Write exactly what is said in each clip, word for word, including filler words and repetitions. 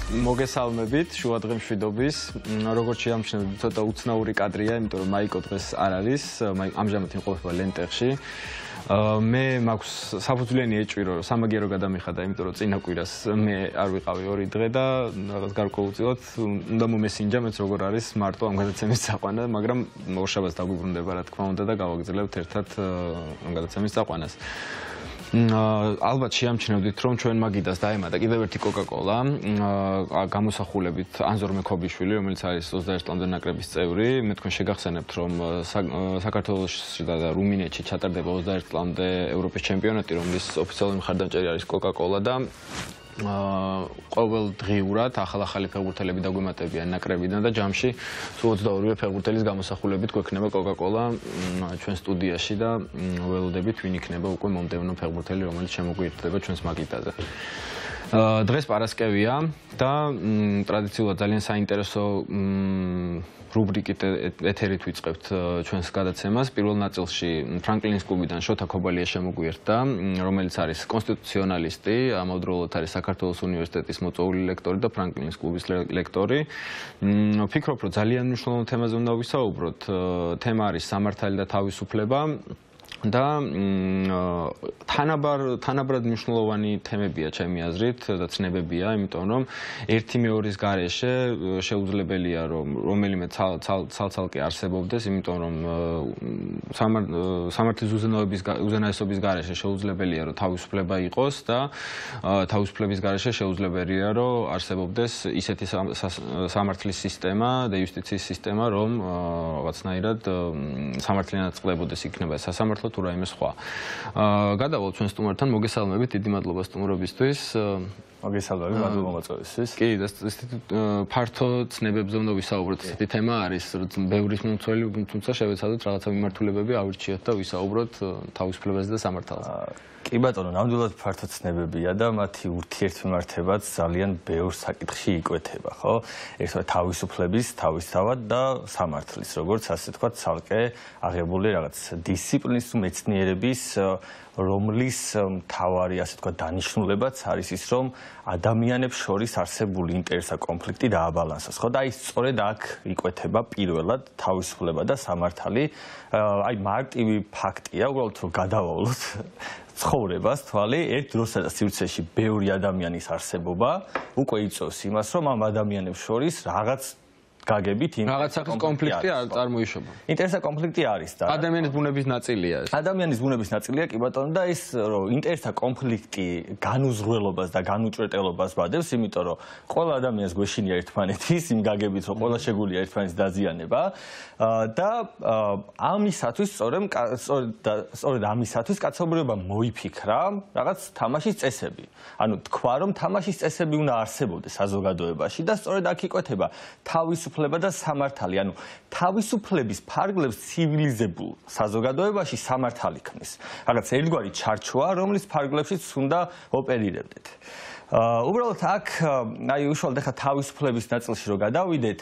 მოგესალმებით შუადღე მშვიდობის. როგორც შეამჩნევთ, ცოტა უცნაური კადრია, იმიტომ რომ მაიკო დღეს არ არის, ამჟამად იმყოფება ლენტეხში. მე მაქვს საფუძვლიანი ეჭვი, რომ სამაგიერო გადამიხადა, იმიტომ რომ წინა კვირას მე არ ვიყავი ორი დღე და რაღაც გარკვეულწილად უნდა მომესინჯა მეც როგორ არის მარტო ამ გადაცემის წაყვანა, მაგრამ ორშაბათს დაგვიბრუნდება რა თქმა უნდა და გავაგრძელებთ ერთად ამ გადაცემის წაყვანას. ალბათ შეამჩნევდით, რომ ჩვენ მაგიდას დაემატა კიდევ ერთი კოკა-კოლა, გამოსახულებით ანზორ მექობიშვილი, რომელიც არის ოცდაერთი წლამდე ნაკრების წევრი. მე თქვენ შეგახსენებთ, რომ საქართველოში და რუმინეთში ჩატარდება ოცდაერთი წლამდე ევროპის ჩემპიონატი, რომლის ოფიციალური მხარდამჭერი არის კოკა-კოლა და ყოველდღიურად ახალ-ახალი ფეხბურთელები დაგვემატებიან ნაკრებიდან და ჯამში სულ ოცდაორი ფეხბურთელის გამოსახულებით გვექნება კოკა-კოლა ჩვენ სტუდიაში და ველოდებით ვინ იქნება უკვე მომდევნო ფეხბურთელი, რომელიც შემოგვიერთდება ჩვენს მაგიდაზე. დღეს პარასკევია და ტრადიციულად ძალიან საინტერესო რუბრიკით ეთერით ვიწყებთ ჩვენს გადაცემას. პირველ ნაწილში ფრანკლინის კლუბიდან შოთა ქობალია შემოგვიერთდა, რომელიც არის კონსტიტუციონალისტი, ამავდროულად არის საქართველოს უნივერსიტეტის მოწვეული ლექტორი და ფრანკლინის კლუბის ლექტორი. ვფიქრობ, რომ ძალიან მნიშვნელოვან თემაზე უნდა ვისაუბროთ. თემა არის სამართალი და თავისუფლება. და თანაბარ თანაბრად მნიშვნელოვანი თემებია ჩემი აზრით და ცნებებია, იმიტომ რომ ერთი მეორის გარეშე შეუძლებელია რომ რომელიმე ცალ-ცალკე არსებობდეს, იმიტომ რომ სამართლის უზენაობის უზენაესობის გარეშე შეუძლებელია რომ თავისუფლება იყოს და თავისუფლების გარეშე შეუძლებელია რომ არსებობდეს ისეთი სამართლის სისტემა და იუსტიციის სისტემა, რომ რაღაცნაირად სამართლიანად წყდებოდეს იქნება სასამართლო თუ რაიმე სხვა. გადავალ ჩვენ სტუმართან, მოგესალმებით, დიდი მადლობა სტუმრობისთვის. მოგესალმებით, მადლობა მოწვევისთვის. კი, და ფართო ცნებებზე უნდა ვისაუბროთ. ესეთი თემა არის, ბევრის მომცველი, თუმცა შევეცადოთ რაღაცა მიმართულებები ავირჩიოთ და ვისაუბროთ თავისუფლებაზე და სამართალზე. კი ბატონო, ნამდვილად ფართო ცნებებია და მათი ურთიერთმემართებაც ძალიან ბევრ საკითხში იკვეთება, ხო? ერთად თავისუფლების, თავისთავად და სამართლის, როგორც ასე თქვა, ცალკე აღებული რაღაც დისციპლინის თუ მეცნიერების, რომლის მთავარი, ასე თქვა, დანიშნულებაც არის ის, რომ ადამიანებს შორის არსებული ინტერესა კონფლიქტი დააბალანსოს, ხო? და აი სწორედ აქ იკვეთება პირველად თავისუფლება და სამართალი. აი მარტივი ფაქტია, უბრალოდ რომ გადავავლოთ ცხოვრებას თვალი, ერთ დროსა და სივრცეში ბევრი ადამიანის არსებობა უკვე იწვევს იმას, რომ ამ ადამიანებს შორის რაღაც გაგებით რაღაც სახის კონფლიქტი არ წარმოიშობა. ინტერესა კონფლიქტი არის და ადამიანის ბუნების ნაწილია ეს. ადამიანის ბუნების ნაწილია, კი ბატონო, და ის რომ ინტერესა კონფლიქტი განუზრველობას და განუჭრეტელობას ვადებს, იმიტომ რომ ყველა ადამიანს გვეშინია ერთმანეთის იმ გაგებით, რომ ყველა შეგვიძლია ერთმანეთს დაზიანება და ამისათვის სწორედ სწორედ ამისათვის კაცობრიობა მოიფიქრა რაღაც თამაშის წესები. ანუ თქვა, რომ თამაშის წესები უნდა არსებობდეს საზოგადოებაში და სწორედ აქ იკვეთება თავისუფლება და სამართალი, ანუ თავისუფლების ფარგლებს ცივილიზებულ საზოგადოებაში სამართალი ქმნის. რაღაც ერთგვარი ჩარჩოა, რომლის ფარგლებშიც უნდა ოპერირებდეთ. უბრალოდ აქ აი უშუალოდ ახლა თავისუფლების ნაწილში რო გადავიდეთ,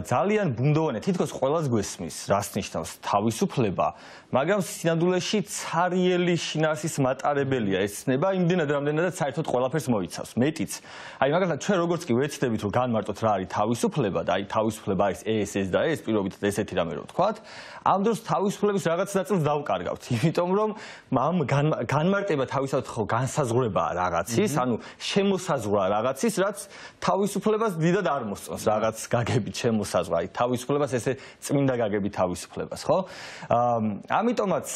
ძალიან ბუნდოვანია, თითქოს ყველას გვესმის, რას ნიშნავს თავისუფლება, მაგრამ სინამდვილეში ცარიელი შინაარსის მატარებელია ეს ცნება, იმდენად რამდენადაც საერთოდ ყველაფერს მოიცავს. მეტიც. აი მაგალითად ჩვენ როგორც კი ვეცდებით რომ განმარტოთ რა არის თავისუფლება და აი თავისუფლება არის ეს ეს და ეს, პირობითად ესეთი რამე რო ვთქვათ, ამ დროს თავისუფლების რაღაც ნაწილს დავკარგავთ, იმიტომ რომ ამ განმარტება თავისთავად ხო განსაზღვრებაა რაღაცის, ანუ შემოსაზღვრა რაღაცის, რაც თავისუფლებას დიდად არ მოსწონს, რაღაც გაგებით შემოსაზღვრა, აი თავისუფლებას ესე წმინდა გაგებით თავისუფლებას, ხო? ამიტომაც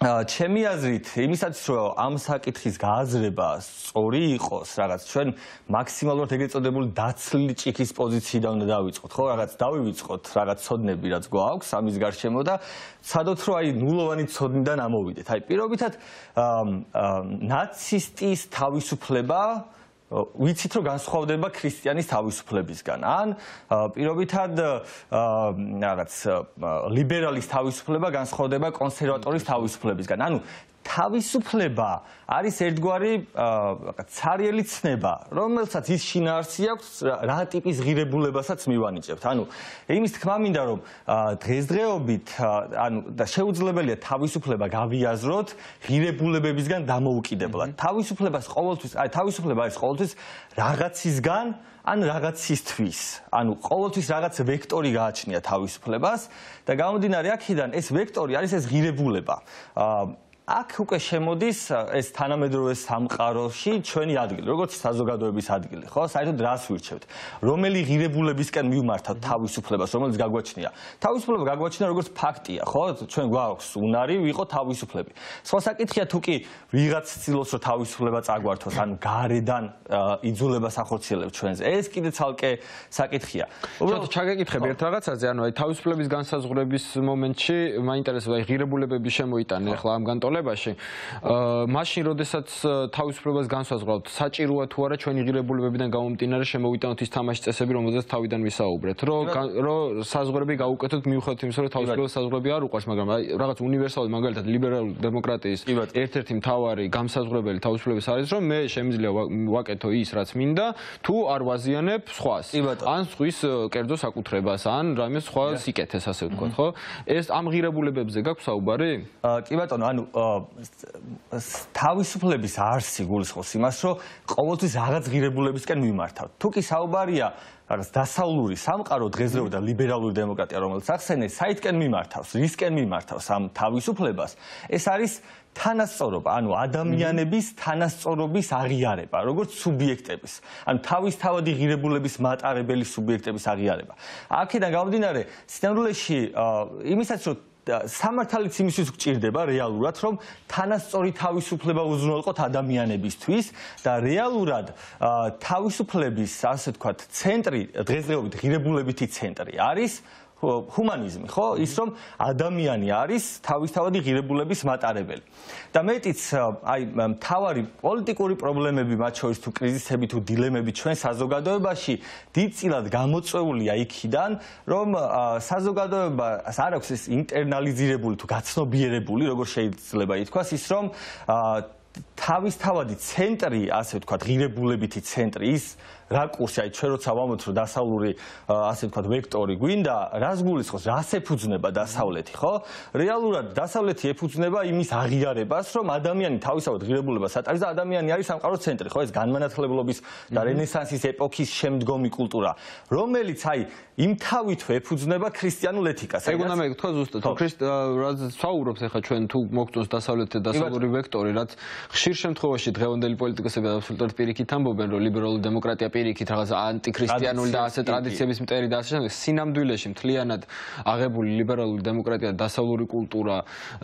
ჩემი აზრით, იმისათვის რომ ამ საკითხის გააზრება სწორი იყოს, რაღაც ჩვენ მაქსიმალურად ეგრეთ წოდებული დაცლილი ჭიქის პოზიციიდან უნდა დავიწყოთ, ხო? რაღაც დავივიწყოთ რაღაც ცოდნები, რაც გვაქვს ამის გარშემო და ცადოთ რომ აი ნულოვანი ცოდნიდან ამოვიდეთ. აი პირობითად ნაცისტის თავისუფლება ვიცით რომ განსხვავდება ქრისტიანის თავისუფლებისგან. ან პირობითად რაღაც ლიბერალის თავისუფლება განსხვავდება კონსერვატორის თავისუფლებისგან. ანუ თავისუფლება არის ერთგვარი ცარიელი ცნება, რომელსაც ის შინაარსი აქვს რა ტიპის ღირებულებასაც მივანიჭებთ. ანუ იმის თქმა მინდა, რომ დღესდღეობით ანუ და შეუძლებელია თავისუფლება გავიაზროთ ღირებულებებისგან დამოუკიდებლად. თავისუფლებას ყოველთვის, აი თავისუფლება არის ყოველთვის რაღაცისგან ან რაღაცისთვის. ანუ ყოველთვის რაღაც ვექტორი გააჩნია თავისუფლებას და გამომდინარე აქედან ეს ვექტორი არის ეს ღირებულება. აქ უკვე შემოდის ეს თანამედროვე სამყაროში ჩვენი ადგილი, როგორც საზოგადოების ადგილი, ხო? საერთოდ რას ვირჩევთ? რომელი ღირებულებისკენ მივმართავთ თავისუფლებას, რომელიც გაგვაჩნია? თავისუფლება გაგვაჩნია როგორც ფაქტია, ხო? ჩვენ გვაქვს უნარი ვიყო თავისუფლები. სხვა საკითხია თუ კი ვიღაც ცდილობს რომ თავისუფლება წაგვართოს, ანუ გარედან იძულებას ახორციელებს ჩვენზე. ეს კიდე ცალკე საკითხია. უბრალოდ ჩაგეკითხები ერთ რაღაცაზე, ანუ აი თავისუფლების განსაზღვრების მომენტში მაინტერესებს აი ღირებულებები შემოიტანე ახლა ამ განტოლებაში. მაშინ, როდესაც თავისუფლებას განსაზღვრავთ, საჭიროა თუ არა ჩვენი ღირებულებებიდან გამომდინარე შემოვიტანოთ ის თამაშის წესები, რომელზეც თავიდან ვისაუბრეთ, რომ რომ საზღვრები გაუკეთოთ მიუხედავად იმისა, რომ თავისუფლების საზღვრები არ უყვარს, მაგრამ აი რაღაც უნივერსალური, მაგალითად ლიბერალური დემოკრატიის ერთ-ერთი მთავარი განსაზღვრებელი თავისუფლების არის, რომ მე შემიძლია ვაკეთო ის, რაც მინდა, თუ არ ვაზიანებ სხვას. ან სხვის კერძო საკუთრებას, ან რამე სხვა სიკეთეს, ასე ვთქვათ, ხო? ეს ამ ღირებულებებზე გაქვს საუბარი? კი ბატონო, ანუ თავისუფლების არსი გულისხმობს იმას, რომ ყოველთვის რაღაც ღირებულებისკენ მიმართავთ. თუ კი საუბარია რაღაც დასავლური სამყარო დღესდღეობით და ლიბერალური დემოკრატია, რომელიც ახსენეს, საითკენ მიმართავს, რისკენ მიმართავს ამ თავისუფლებას, ეს არის თანასწორობა, ანუ ადამიანების თანასწორობის აღიარება, როგორც სუბიექტების, ანუ თავისთავადი ღირებულების მატარებელი სუბიექტების აღიარება. აქედან გამომდინარე, სინამდვილეში იმისაც რომ სამართალიც იმისთვის გჭირდება რეალურად, რომ თანასწორი თავისუფლება უზრუნველყოთ ადამიანებისთვის და რეალურად თავისუფლების, ასე ვთქვათ, ცენტრი, დღესდღეობით ღირებულებითი ცენტრი არის ჰუმანიზმი, ხო? ის რომ ადამიანი არის თავისთავადი ღირებულების მატარებელი. და მეტიც, აი, მთავარი პოლიტიკური პრობლემები, მათ შორის თუ კრიზისები, თუ დილემები ჩვენ საზოგადოებაში დიდწილად გამოწვეულია იქიდან, რომ საზოგადოებას არ აქვს ეს ინტერნალიზირებული თუ გაცნობიერებული, როგორც შეიძლება ითქვას, ის რომ თავისთავადი ცენტრი, ასე ვთქვათ, ღირებულებითი ცენტრი, ის რაკურსი, აი ჩვენ როცა ვამბობთ, რომ დასავლური, ასე ვთქვათ, ვექტორი გვინდა, რას გულისხმობს, რას ეფუძნება დასავლეთი, ხო? რეალურად დასავლეთი ეფუძნება იმის აღიარებას, რომ ადამიანი თავისთავად ღირებულებას ატარებს და ადამიანი არის სამყაროს ცენტრი, ხო? ეს განმანათლებლობის და რენესანსის ეპოქის შემდგომი კულტურა, რომელიც აი იმ თავითვე ეფუძნება ქრისტიანულ ეთიკას. ეგ უნდა მეკითხო ზუსტად, თუ ქრისტიანს საუბრობს ახლა ჩვენ თუ მოგწონს დასავლეთი და დასავლური ვექტორი, რაც ხშირ შემთხვევაში დღევანდელი პოლიტიკოსები აბსოლუტურად პირიქით ამბობენ, რომ ლიბერალური დემოკრატია პირიქით რაღაც ანტიქრისტიანული და ასე ტრადიციების მტერი და ასე შემდეგ. სინამდვილეში მთლიანად აღებული ლიბერალური დემოკრატია და დასავლური კულტურა,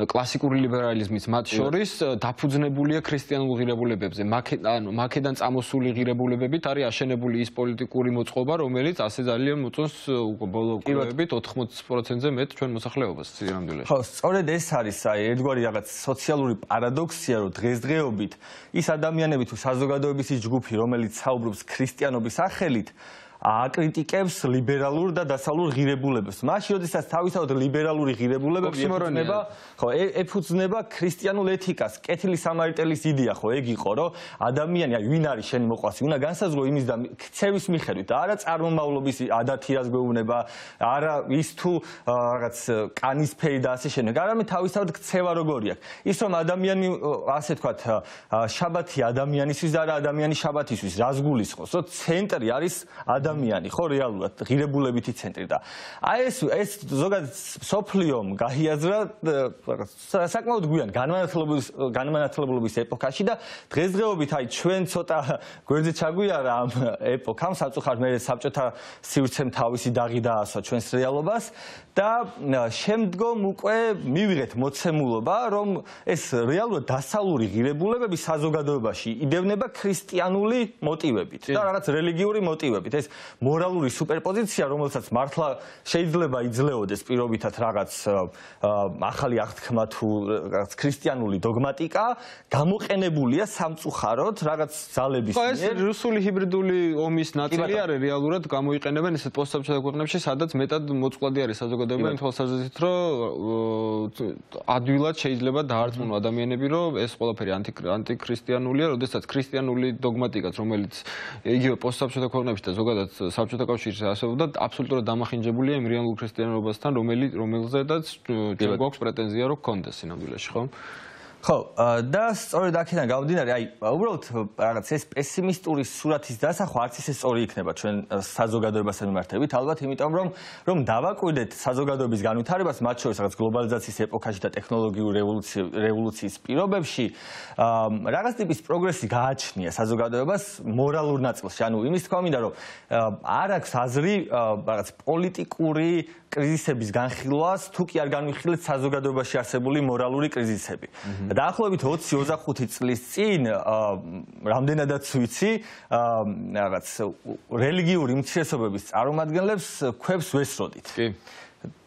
კლასიკური ლიბერალიზმის მათ შორის დაფუძნებულია ქრისტიანულ ღირებულებებზე. ანუ მაქედან წამოსული ღირებულებებით არის აშენებული ის პოლიტიკური მოწყობა, რომელიც ასე ძალიან მოწონს ბოლო კვლევებით ოთხმოცი პროცენტზე მეტ ჩვენ მოსახლეობას სინამდვილეში. ხო, სწორედ ეს არის აი ერთგვარი რაღაც სოციალური პარადოქსია, რომ დღესდღეობით ის ადამიანები თუ საზოგადოების ის ჯგუფი, რომელიც საუბრობს ქრისტიანობის სახელით, აკრიტიკებს ლიბერალურ და დასავლურ ღირებულებებს. მაშინ, როდესაც თავისთავად ლიბერალური ღირებულებები ეფუძნება, ხო, ეფუძნება ქრისტიანულ ეთიკას. კეთილი სამარიტელის იდეა, ხო, ეგ იყო, რომ ადამიანი, აი, ვინ არის შენი მოყვასი, უნდა განსაზღვრო იმის და ქცევის მიხედვით და არა წარმომავლობის ადათი რას გვეუბნება, არა ის თუ რაღაც კანისფერი და ასე შემდეგ, არამედ თავისთავად ქცევა როგორი აქვს. ის რომ ადამიანი, ასე ვთქვათ, შაბათი ადამიანისთვის და არა ადამიანი შაბათისთვის, რას გულისხმობს, რომ ცენტრი არის ადამიანი, ხო, რეალურად ღირებულებითი ცენტრი და აი ეს ეს ზოგადად სოფლიომ გაიაზრა საკმაოდ გვიან განმანათლებლობის განმანათლებლობის ეპოქაში და დღესდღეობით აი ჩვენ ცოტა გვერდზე ჩაგვიარა ამ ეპოქამ, სამწუხაროდ მე საბჭოთა სივრცემ თავისი დაღი დაასვა ჩვენს რეალობას და შემდგომ უკვე მივიღეთ მოცემულობა, რომ ეს რეალურად დასავლური ღირებულებები საზოგადოებაში იდევნება ქრისტიანული მოტივებით და რაღაც რელიგიური მოტივებით. ეს მორალური სუპერპოზიცია, რომელსაც მართლა შეიძლება იძლეოდეს პირობითად რაღაც ახალი აღთქმა თუ რაღაც ქრისტიანული დოგმატიკა, გამოყენებულია სამწუხაროდ რაღაც ძალების მიერ. ეს რუსული ჰიბრიდული ომის ნაწილი არის რეალურად გამოიყენებენ ესეთ პოსტსაბჭოთა ქვეყნებში, სადაც მეტად მოწყვლადი არის საზოგადოება იმ თვალსაზრისით, რომ ადვილად შეიძლება დაარწმუნო ადამიანები, რომ ეს ყველაფერი ანტიქრისტიანულია, როდესაც ქრისტიანული დოგმატიკაც, რომელიც იგივე პოსტსაბჭოთა ქვეყნებში და ზოგადად საბჭოთა კავშირში არსებობდა, აბსოლუტურად დამახინჯებულია იმ რეალურ ქრისტიანობასთან, რომელზედაც ჩვენ გვაქვს პრეტენზია, რომ გქონდეს სინამდვილეში, ხო? ხო, და სწორედ აქედან გამომდინარე, აი, უბრალოდ რაღაც ეს პესიმისტური სურათის დასახვა არც ისე სწორი იქნება ჩვენ საზოგადოებასთან მიმართებით, ალბათ, იმიტომ რომ რომ დავაკვირდეთ საზოგადოების განვითარებას, მათ შორის რაღაც გლობალიზაციის ეპოქაში და ტექნოლოგიური რევოლუციის პირობებში, რაღაც ტიპის პროგრესი გააჩნია საზოგადოებას მორალურ ნაწილში. ანუ იმის თქვა მინდა, რომ არ აქვს აზრი რაღაც პოლიტიკური კრიზისების განხილვას, თუ კი არ განვიხილეთ საზოგადოებაში არსებული მორალური კრიზისები. დაახლოებით ოცი ოცდახუთი წლის წინ, რამდენადაც ვიცი, რაღაც რელიგიური უმცირესობების წარმომადგენლებს ქვებს ვესროდით. კი.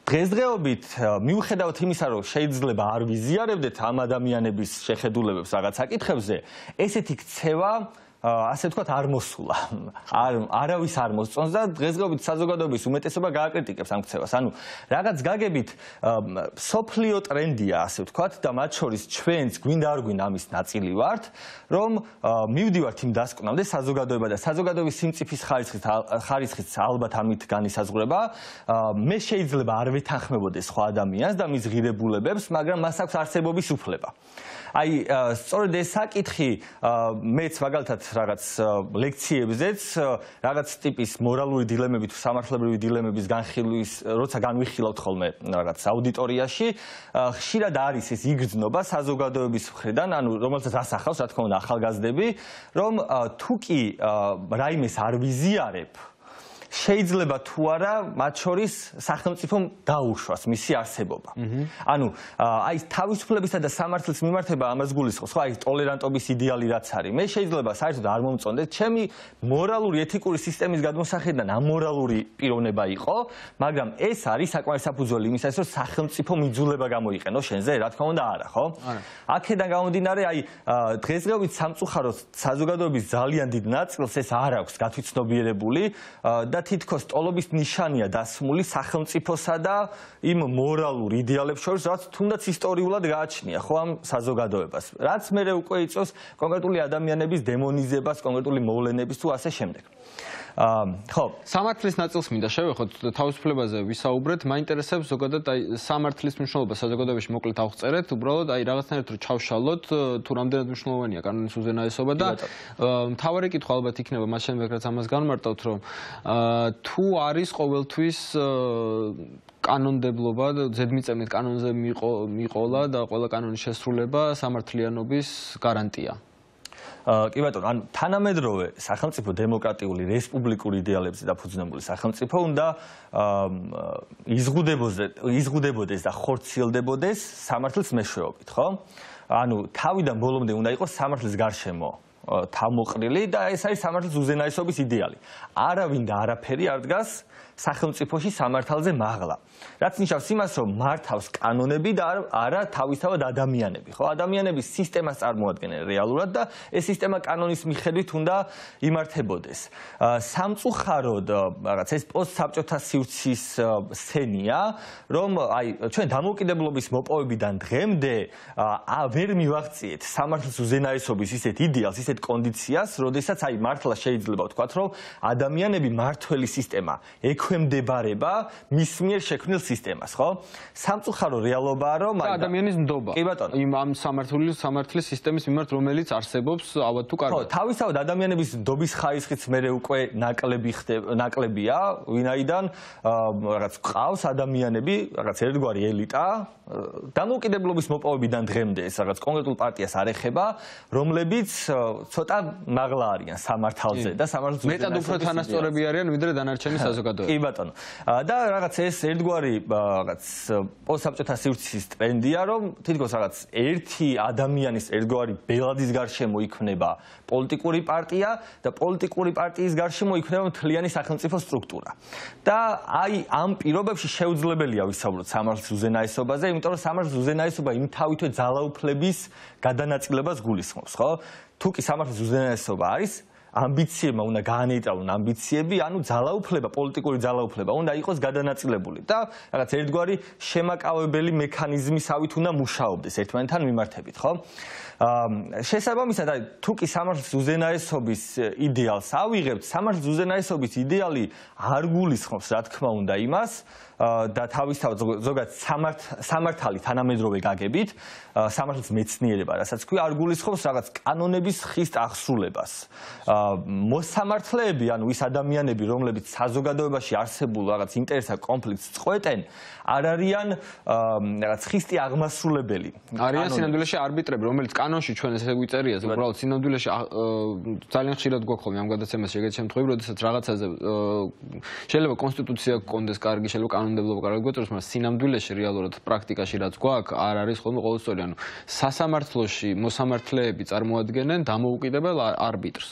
დღესდღეობით, მიუხედავად იმისა, რომ შეიძლება არ ვიზიარებდეთ ამ ადამიანების შეხედულებებს რაღაც საკითხებზე, ესეთი ქცევა ასე ვთქვათ, არ მოსულა. არ არავის არ მოსწონს და დღესდღეობით საზოგადოების უმეტესობა გააკრიტიკებს ამ ქცევას. ანუ რაღაც გაგებით სოფლიო ტრენდია, ასე ვთქვათ, და მათ შორის ჩვენც გვინდა არ გვინდა ამის ნაწილი ვართ, რომ მივდივართ იმ დასკვნამდე საზოგადოება და საზოგადოების სიმწიფის ხარისხით ხარისხით ალბათ ამით განისაზღვრება. მე შეიძლება არ ვეთანხმებოდეს სხვა ადამიანს და მის ღირებულებებს, მაგრამ მას აქვს არსებობის უფლება. აი, სწორედ ეს საკითხი მეც მაგალითად რაღაც ლექციებზეც რაღაც ტიპის მორალური დილემები თუ სამართლებრივი დილემების განხილვის, როცა განვიხილავთ ხოლმე რაღაც აუდიტორიაში, ხშირად არის ეს იგრძნობა საზოგადოების მხრიდან, ანუ რომელსაც ასახავს, რა თქმა უნდა, ახალგაზრდები, რომ თუ კი რაიმეს არ ვიზიარებ, შეიძლება თუ არა მათ შორის სახელმწიფომ დაუშვას მისი არსებობა. ანუ აი თავისუფლებისა და სამართლის მიმართება ამას გულისხმობს, ხო, აი ტოლერანტობის იდეალი რაც არის. მე შეიძლება საერთოდ არ მომწონდეს, ჩემი მორალური ეთიკური სისტემის გადმოსახედიდან ამორალური პიროვნება იყო, მაგრამ ეს არის საკმარის საფუძველი იმისათვის, რომ სახელმწიფო მიძულება გამოიყენო შენზე, რა თქმა უნდა არა, ხო? აქედან გამომდინარე, აი დღესდღეობით სამწუხაროდ საზოგადოების ძალიან დიდ ნაწილს ეს არ აქვს გათვითცნობიერებული და თითქოს ტოლობის ნიშანია დასმული სახელმწიფოსა და იმ მორალურ იდეალებს შორის, რაც თუნდაც ისტორიულად გააჩნია, ხო, ამ საზოგადოებას. რაც მერე უკვე იწვევს კონკრეტული ადამიანების დემონიზებას, კონკრეტული მოვლენების თუ ასე შემდეგ. ხო, სამართლის ნაწილს მინდა შევეხოთ, თავისუფლებაზე ვისაუბრეთ, მაინტერესებს ზოგადად აი სამართლის მნიშვნელობა საზოგადოებაში მოკლედ ავწერეთ, უბრალოდ აი რაღაცნაირად რომ ჩავშალოთ, თუ რამდენად მნიშვნელოვანია კანონის უზენაესობა და მთავარი კითხვა ალბათ იქნება მას შემდეგ რაც ამას განმარტავთ, რომ თუ არის ყოველთვის კანონდებლობა, ზედმიწევნით კანონზე მიყოლა და ყველა კანონის შესრულება სამართლიანობის გარანტია. კი ბატონო, ანუ თანამედროვე სახელმწიფო დემოკრატიული რესპუბლიკური იდეალებზე დაფუძნებული სახელმწიფო უნდა იზღუდებოდეს და ხორციელდებოდეს სამართლის მეშვეობით, ხო? ანუ თავიდან ბოლომდე უნდა იყოს სამართლის გარშემო თავმოყრილი და ეს არის სამართლის უზენაესობის იდეალი. არავინ და არაფერი არ დგას სახელმწიფოში სამართალზე მაღლა. რაც ნიშნავს იმას, რომ მართავს კანონები და არა თავისთავად ადამიანები, ხო? ადამიანების სისტემას წარმოადგენენ რეალურად და ეს სისტემა კანონის მიხედვით უნდა იმართებოდეს. სამწუხაროდ, რაღაც ეს პოსტსაბჭოთა სივრცის სცენია, რომ აი ჩვენ დამოუკიდებლობის მოპოვებიდან დღემდე ვერ მივაღწიეთ სამართლის უზენაესობის ისეთ იდეალს, ისეთ კონდიციას, როდესაც აი მართლა შეიძლება ვთქვათ, რომ ადამიანები მართველი სისტემა ექვემდებარება მის მიერ შექმნილ სისტემას, ხო? სამწუხარო რეალობაა, რომ აი ადამიანის ნდობა. კი ბატონო. იმ ამ სამართლის სამართლის სისტემის მიმართ, რომელიც არსებობს, ალბათ თუ კარგად. ხო, თავისთავად ადამიანების ნდობის ხარისხიც მე უკვე ნაკლები ხდება, ნაკლებია, ვინაიდან რაღაც ყავს ადამიანები, რაღაც ერთგვარი ელიტა, დამოუკიდებლობის მოპოვებიდან დღემდე ეს რაღაც კონკრეტულ პარტიას არ ეხება, რომლებიც ცოტა მაღლა არიან სამართალზე და სამართლის მეტად უფრო თანასწორები არიან ვიდრე დანარჩენი საზოგადოება. კი ბატონო. და რაღაც ეს ერთგვარი რაღაც პოსტსაბჭოთა სივრცის ტრენდია, რომ თითქოს რაღაც ერთი ადამიანის ერთგვარი ბელადის გარშემო იქნება პოლიტიკური პარტია და პოლიტიკური პარტიის გარშემო იქნება მთლიანი სახელმწიფო სტრუქტურა. და აი ამ პირობებში შეუძლებელია ვისაუბროთ სამართლის უზენაესობაზე, იმიტომ რომ სამართლის უზენაესობა იმთავითვე ძალაუფლების გადანაწილებას გულისხმობს, ხო? თუ კი სამართლის უზენაესობა არის ამბიციებმა უნდა გაანეიტრალონ ამბიციები, ანუ ძალაუფლება, პოლიტიკური ძალაუფლება უნდა იყოს გადანაწილებული და რაღაც ერთგვარი შემაკავებელი მექანიზმისავით უნდა მუშაობდეს ერთმანეთთან მიმართებით, ხო? შესაბამისად, აი თუ კი სამართლის უზენაესობის იდეალს ავიღებთ, სამართლის უზენაესობის იდეალი არ გულისხმობს, რა თქმა უნდა, იმას და თავისთავად ზოგადად სამართალი თანამედროვე გაგებით, სამართლის მეცნიერება, რასაც ქვია, არ გულისხმობს რაღაც კანონების ხის აღსრულებას. მოსამართლეები, ანუ ის ადამიანები, რომლებიც საზოგადოებაში არსებულ რაღაც ინტერესთა კონფლიქტს წყვეტენ, არ არიან რაღაც ხისტი აღმასრულებელი. არიან სინამდვილეში არბიტრები, რომელიც კანონში ჩვენ ესე ვიწერია, უბრალოდ სინამდვილეში ძალიან ხშირად გვაქვს ხოლმე ამ გადაცემაში ეგეთი შემთხვევები, როდესაც რაღაცაზე შეიძლება კონსტიტუცია გქონდეს კარგი, შეიძლება კანონმდებლობა კარგი გვეწევს, მაგრამ სინამდვილეში რეალურად პრაქტიკაში რაც გვაქვს, არ არის ხოლმე ყოველწლიურად. ანუ სასამართლოში მოსამართლეები წარმოადგენენ დამოუკიდებელ არბიტრს.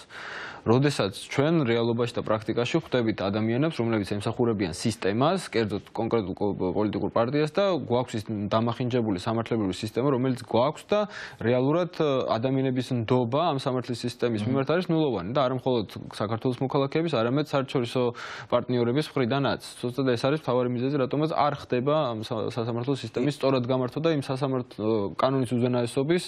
როდესაც ჩვენ რეალობაში და პრაქტიკაში ხვდებით ადამიანებს, რომლებიც ემსახურებიან სისტემას, კერძოდ კონკრეტულ პოლიტიკურ პარტიას და გვაქვს ის დამახინჯებული სამართლებრივი სისტემა, რომელიც გვაქვს და რეალურად ადამიანების ნდობა ამ სამართლის სისტემის მიმართ არის ნულოვანი და არა მხოლოდ საქართველოს მოქალაქეების, არამედ საერთაშორისო პარტნიორების მხრიდანაც. ზუსტად ეს არის მთავარი მიზეზი, რატომაც არ ხდება ამ სასამართლო სისტემის სწორად გამართვა და იმ სასამართლო კანონის უზენაესობის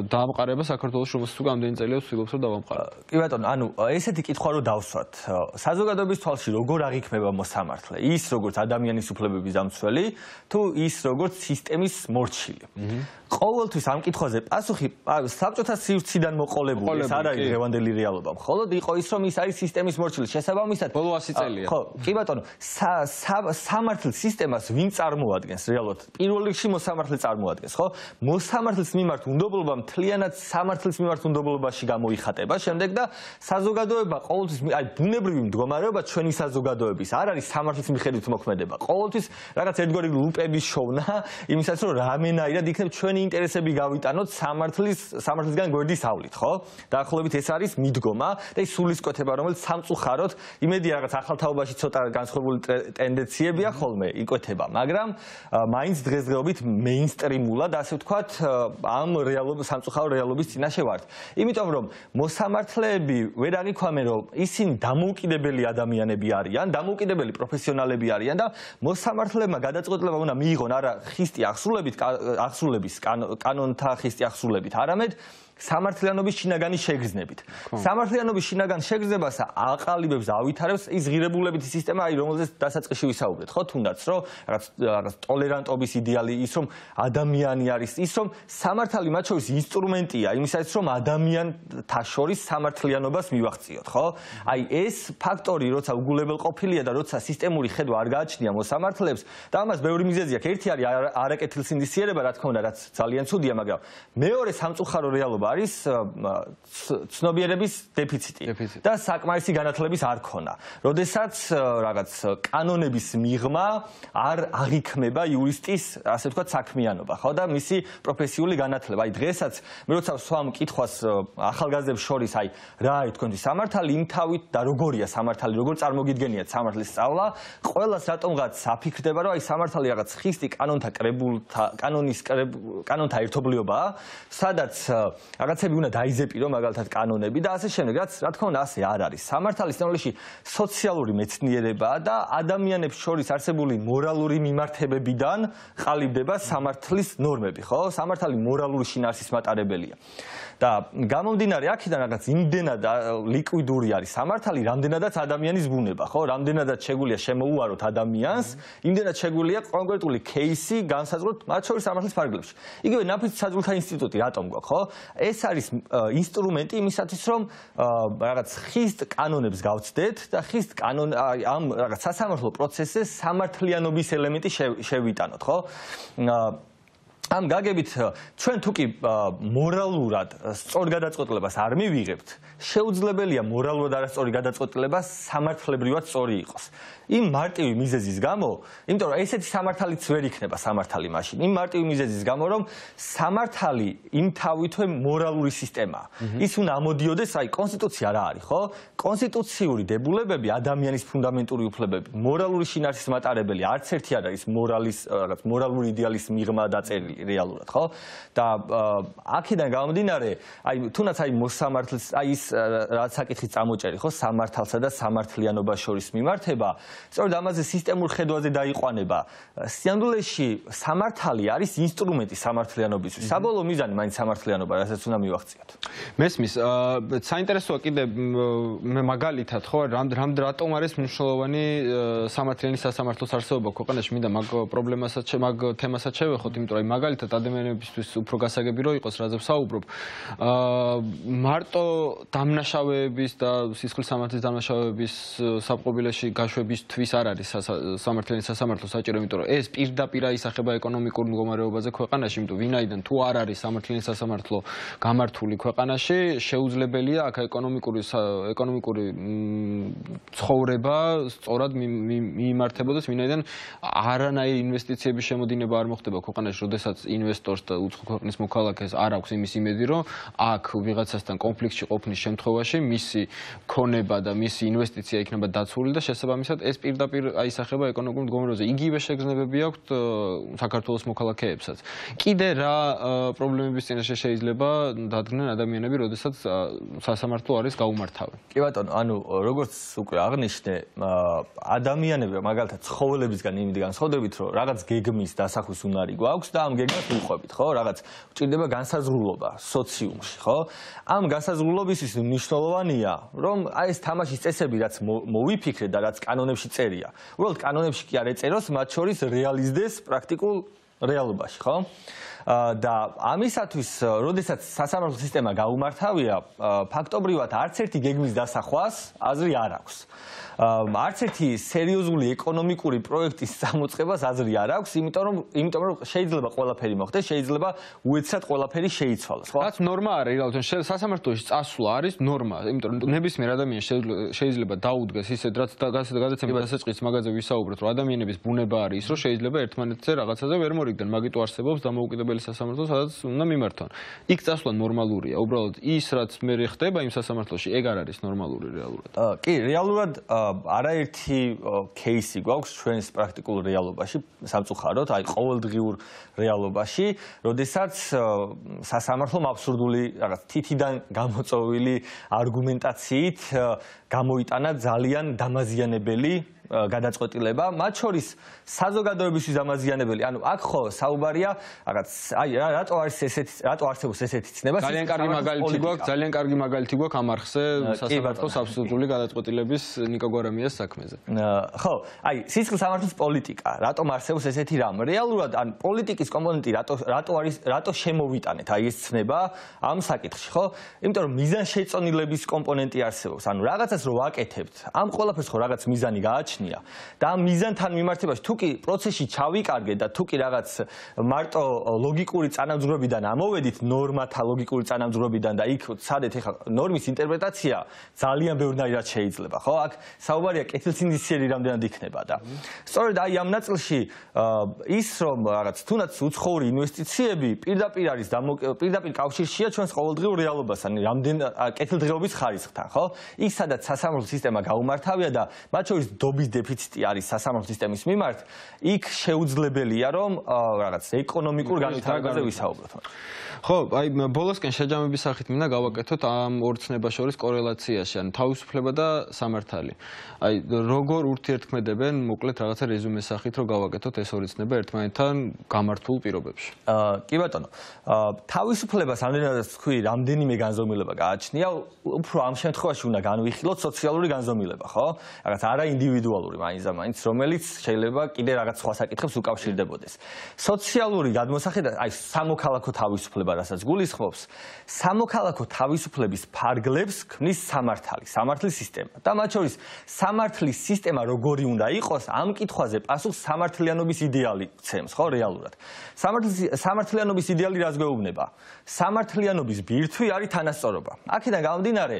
დაამყარება საქართველოს, რომელსაც უკვე ამდენი წელია ვცდილობს რომ დავამყაროთ. კი ბატონო, ანუ ესეთი კითხვა რო დავსვათ. საზოგადოების თვალში როგორ აღიქმება მოსამართლე? ის როგორც ადამიანის უფლებების დამცველი, თუ ის როგორც სისტემის მორჩილი. ყოველთვის ამ კითხვაზე პასუხი საბჭოთა სივრციდან მოყოლებული, ეს არ არის დღევანდელი რეალობა. მხოლოდ იყო ის, რომ ის არის სისტემის მორჩილი. შესაბამისად, ბოლო ასი წელია. ხო, კი ბატონო, სამართლის სისტემას ვინ წარმოადგენს რეალურად? პირველ რიგში მოსამართლე წარმოადგენს, ხო? მოსამართლის მიმართ უნდობლობა მთლიანად სამართლის მიმართ უნდობლობაში გამოიხატება, შემდეგ და საზოგადოება ყოველთვის, აი ბუნებრივი მდგომარეობა ჩვენი საზოგადოების არ არის სამართლის მიხედვით მოქმედება. ყოველთვის რაღაც ერთგვარი ლუპების შოვნა, იმისაც რომ რამენაირად იქნებ ჩვენი ინტერესები გავიტანოთ სამართლის სამართლისგან გვერდის ავლით, ხო? დაახლოებით ეს არის მიდგომა და ის სულისკვეთება, რომელიც სამწუხაროდ, იმედია რაღაც ახალთაობაში ცოტა განსხვავებული ტენდენციებია ხოლმე იკვეთება, მაგრამ მაინც დღესდღეობით მეინსტრიმულად, ასე ვთქვათ, ამ რეალობის სამწუხარო რეალობის წინაშე ვართ. იმიტომ რომ მოსამართლეები ვერ აღიქვამენ, რომ ისინი დამოუკიდებელი ადამიანები არიან, დამოუკიდებელი პროფესიონალები არიან და მოსამართლებმა გადაწყვეტილება უნდა მიიღონ არა ხისტი აღსრულებით, აღსრულების კანონთა ხისტი აღსრულებით, არამედ სამართლიანობის შინაგანი შეგრძნებით. სამართლიანობის შინაგან შეგრძნებას აყალიბებს, ავითარებს ის ღირებულებითი სისტემა, აი რომელზეც დასაწყისში ვისაუბრეთ, ხო, თუნდაც რომ რაღაც რაღაც ტოლერანტობის იდეალი, ის რომ ადამიანი არის, ის რომ სამართალი მათ შორის ინსტრუმენტია, იმისათვის რომ ადამიანთა შორის სამართლიანობას მივახციოთ, ხო? აი ეს ფაქტორი, როცა უგულებელყოფილია და როცა სისტემური ხედვა არ გააჩნია მოსამართლეებს და ამას ბევრი მიზეზი აქვს. ერთი არის არაკეთილსინდისიერება, რა თქმა უნდა, რაც ძალიან ცუდია, მაგრამ მეორე სამწუხარო რეალობა არის ცნობიერების დეფიციტი და საკმარისი განათლების არ ქონა. როდესაც რაღაც კანონების მიღმა არ აღიქმება იურისტის, ასე ვთქვათ, საქმიანობა, ხო და მისი პროფესიული განათლება. აი დღესაც მე როცა ვსვამ კითხვას ახალგაზრდებს შორის, აი რა არის თქვენთვის სამართალი, იმთავით და როგორია სამართალი, როგორ წარმოგიდგენიათ სამართლის სწავლა, ყველას რატომღაც აფიქრდება, რომ აი სამართალი რაღაც ხისტი კანონთა კრებულთა, კანონის კანონთა ერთობლიობაა, სადაც რაღაცები უნდა დაიზეპირო, მაგალითად კანონები და ასე შემდეგ, რაც რა თქმა უნდა ასე არ არის. სამართალი სინამდვილეში სოციალური მეცნიერებაა და ადამიანებს შორის არსებული მორალური მიმართებებიდან ყალიბდება სამართლის ნორმები, ხო? სამართალი მორალური შინაარსის მატარებელია. და გამომდინარე აქედან რაღაც იმდენად ლიკვიდური არის სამართალი, რამდენადაც ადამიანის ბუნება, ხო? რამდენადაც შეგვიძლია შემოუაროთ ადამიანს, იმდენად შეგვიძლია კონკრეტული кейსი განსაზღვროთ მათ შორის სამართლის ფარგლებში. იგივე ნაფიც საძულთა ინსტიტუტი რატომ გვაქვს, ხო? ეს არის ინსტრუმენტი იმისათვის, რომ რაღაც ხისტ კანონებს გავცდეთ და ხისტ კანონ ამ რაღაც სასამართლო პროცესზე სამართლიანობის ელემენტი შევიტანოთ, ხო? ამ გაგებით ჩვენ თუ კი მორალურად სწორ გადაწყვეტილებას არ მივიღებთ, შეუძლებელია მორალურად არასწორი გადაწყვეტილება სამართლებრივად სწორი იყოს. იმ მარტივი მიზეზის გამო, იმიტომ რომ ესეთი სამართალიც ვერ იქნება სამართალი მაშინ. იმ მარტივი მიზეზის გამო, რომ სამართალი იმთავითვე მორალური სისტემაა. ის უნდა ამოდიოდეს, აი კონსტიტუცია რა არის, ხო? კონსტიტუციური დებულებები, ადამიანის ფუნდამენტური უფლებები, მორალური შინაარსის მატარებელი, არც ერთი არ არის მორალის, რაღაც მორალური იდეალის მიღმა დაწერილი რეალურად, ხო? და აქედან გამომდინარე, აი თუნდაც აი მოსამართლის, აი ის რაც საკითხის წამოჭერი, ხო, სამართალსა და სამართლიანობას შორის მიმართება, სწორედ ამაზე სისტემურ ხედვაზე დაიყვანება. სინამდვილეში სამართალი არის ინსტრუმენტი სამართლიანობისთვის. საბოლოო მიზანი მაინც სამართლიანობა, რასაც უნდა მივახციოთ. მესმის, საინტერესოა კიდე მე მაგალითად, ხო, რამ რატომ არის მნიშვნელოვანი სამართლიანი სასამართლოს არსებობა ქვეყანაში, მინდა მაგ პრობლემასაც, მაგ თემასაც შევეხოთ, იმიტომ რომ მაგალითად ადამიანებისთვის უფრო გასაგები რო იყოს, რაზე ვსაუბრობ. მარტო დამნაშავეების და სისხლის სამართლის დამნაშავეების საფყობილეში გაშვებისთვის არ არის სამართლიანი სასამართლო საჭირო, იმიტომ რომ ეს პირდაპირ აისახება ეკონომიკურ მდგომარეობაზე ქვეყანაში, იმიტომ ვინაიდან თუ არ არის სამართლიანი სასამართლო გამართული ქვეყანაში, შეუძლებელია აქ ეკონომიკური ეკონომიკური ცხოვრება სწორად მიიმართებოდეს, ვინაიდან არანაირი ინვესტიციების შემოდინება არ მოხდება ქვეყანაში, როდესაც ინვესტორს და უცხო ქვეყნის მოქალაქეს არ აქვს იმის იმედი, რომ აქ ვიღაცასთან კონფლიქტში ყოფნის შემთხვევაში მისი ქონება და მისი ინვესტიცია იქნება დაცული და შესაბამისად ეს პირდაპირ აისახება ეკონომიკურ მდგომარეობაზე. იგივე შეგრძნებები აქვთ საქართველოს მოქალაქეებსაც. კიდე რა პრობლემების წინაშე შეიძლება დადგნენ ადამიანები, როდესაც სასამართლო არის გაუმართავი? კი ბატონო, ანუ როგორც უკვე აღნიშნე, ადამიანები მაგალითად ცხოველებისგან იმით განსხვავებით, რომ რაღაც გეგმის დასახვის უნარი გვაქვს და ამ გეგმას ვიყვებით, ხო? რაღაც გვჭირდება განსაზღვრულობა სოციუმში, ხო? ამ განსაზღვრულობისთვის მნიშვნელოვანია, რომ აი ეს თამაშის წესები, რაც მოვიფიქრეთ და რაც კანონებში წერია, უბრალოდ კანონებში კი არ ეწეროს, მათ შორის რეალიზდეს პრაქტიკულ რეალობაში, ხო? და ამისათვის, როდესაც სასამართლო სისტემა გაუმართავია, ფაქტობრივად არც ერთი გეგმის დასახვას აზრი არ აქვს. არც ერთი სერიოზული ეკონომიკური პროექტის გამოწყებას აზრი არ აქვს, იმიტომ რომ იმიტომ რომ შეიძლება ყველაფერი მოხდეს, შეიძლება უეცრად ყველაფერი შეიცვალოს, ხო? რაც ნორმა არის, რეალურად სასამართლოში წასვლა არის ნორმა, იმიტომ რომ ნებისმიერ ადამიანს შეიძლება დაუდგეს ისეთ რაც გადაცემის დასაწყისს მაგაზე ვისაუბრეთ, რომ ადამიანების ბუნება არის ის, რომ შეიძლება ერთმანეთზე რაღაცაზე ვერ მორიგდნენ, მაგიტო არსებობს დამოუკიდებელი სასამართლო, სადაც უნდა მიმართონ. იქ წასვლა ნორმალურია, უბრალოდ ის რაც მე ხდება იმ სასამართლოში, ეგ არ არის ნორმალური რეალურად. კი, რეალურად არაერთი кейსი გვაქვს ჩვენს პრაქტიკულ რეალობაში, სამწუხაროდ, აი ყოველდღიურ რეალობაში, როდესაც სასამართლომ აბსურდული რაღაც თითიდან გამოწვეული არგუმენტაციით გამოიტანა ძალიან დამაზიანებელი გადაწყვეტილება, მათ შორის საზოგადოებისთვის დამაზიანებელი. ანუ აქ ხო საუბარია რაღაც აი რატო არის ესეთი რატო არსებობს ესეთი ცნება? ძალიან კარგი მაგალითი გვაქვს, ძალიან კარგი მაგალითი გვაქვს ამ არხზე სასამართლოს აბსოლუტური გადაწყვეტილების ნიკო გვარამიას საქმეზე. ხო, აი სისხლის სამართლის პოლიტიკა, რატომ არსებობს ესეთი რამ? რეალურად ან პოლიტიკის კომპონენტი რატო რატო არის რატო შემოვიტანეთ აი ეს ცნება ამ საკითხში, ხო? იმიტომ რომ მიზანშეწონილების კომპონენტი არსებობს. ანუ რაღაცას რო ვაკეთებთ, ამ ყველაფერს ხო რაღაც მიზანი გააჩნია და ამ მიზანთან მიმართებაში თუ კი პროცესში ჩავიკარგეთ და თუ კი რაღაც მარტო ლოგიკური წანამძღვრებიდან ამოვედით ნორმათა ლოგიკური წანამძღვრებიდან და იქ სადეთ ეხლა ნორმის ინტერპრეტაცია ძალიან ბევრნაირად შეიძლება, ხო? აქ საუბარია კეთილსინდისიერი რამდენად იქნება და სწორედ აი ამ ნაწილში ის რომ რაღაც თუნდაც უცხოური ინვესტიციები პირდაპირ არის პირდაპირ კავშირშია ჩვენს ყოველდღიურ რეალობასთან, რამდენ კეთილდღეობის ხარისხთან, ხო? იქ სადაც სასამართლო სისტემა გაუმართავია და მათ შორის დობის დეფიციტი არის სასამართლო სისტემის მიმართ, იქ შეუძლებელია რომ რაღაც ეკონომიკურ განვითარებაზე ვისაუბროთ. ხო, აი ბოლოსკენ შეჯამების სახით მინდა გავაკეთოთ ამ ორ ცნებას შორის კორელაციაში, ანუ თავისუფლება და სამართალი. აი როგორ ურთიერთქმედებენ, მოკლედ რაღაცა რეზუმეს სახით რომ გავაკეთოთ ეს ორი ცნება ერთმანეთთან გამართულ პირობებში. კი ბატონო, თავისუფლებას ამდენადაც თქვი, რამდენიმე განზომილება გააჩნია, უფრო ამ შემთხვევაში უნდა განვიხილოთ სოციალური განზომილება, ხო? რაღაც არა ინდივიდუალური ინდივიდუალური მაინც და მაინც, რომელიც შეიძლება კიდე რაღაც სხვა საკითხებს უკავშირდებოდეს. სოციალური გადმოსახედა, აი სამოქალაქო თავისუფლება, რასაც გულისხმობს, სამოქალაქო თავისუფლების ფარგლებს ქმნის სამართალი, სამართლის სისტემა. და მათ შორის სამართლის სისტემა როგორი უნდა იყოს, ამ კითხვაზე პასუხს სამართლიანობის იდეალი ცემს, ხო, რეალურად. სამართლიანობის იდეალი რას გვეუბნება? სამართლიანობის ბირთვი არის თანასწორობა. აქედან გამომდინარე,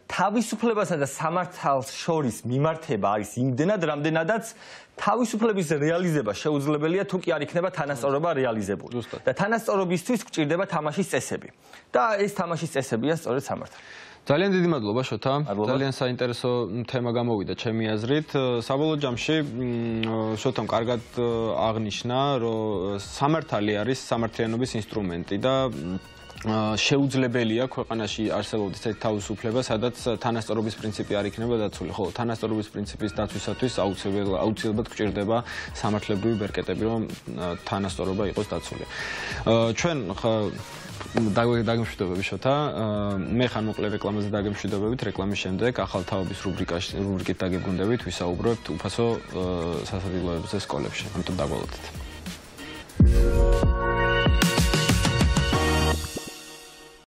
თავისუფლებასა და სამართალს შორის მიმართება არის იმდენად, რამდენადაც თავისუფლების რეალიზება შეუძლებელია თუ კი არ იქნება თანასწორობა რეალიზებული. და თანასწორობისთვის გვჭირდება თამაშის წესები. და ეს თამაშის წესებია სწორედ სამართალი. ძალიან დიდი მადლობა შოთა. ძალიან საინტერესო თემა გამოვიდა ჩემი აზრით. საბოლოო ჯამში შოთამ კარგად აღნიშნა, რომ სამართალი არის სამართლიანობის ინსტრუმენტი და შეუძლებელია ქვეყანაში არსებობდეს ერთ თავისუფლება, სადაც თანასწორობის პრინციპი არ იქნება დაცული. ხო, თანასწორობის პრინციპის დაცვისათვის აუცილებლად გვჭირდება სამართლებრივი ბერკეტები, რომ თანასწორობა იყოს დაცული. ჩვენ დაგემშვიდობები შოთა. მე ხან მოკლე რეკლამაზე დაგემშვიდობებით, რეკლამის შემდეგ ახალ თაობის რუბრიკაში რუბრიკით დაგებგუნდებით, ვისაუბრებთ უფასო სასადილოებზე სკოლებში. ამიტომ დაგვალოდეთ.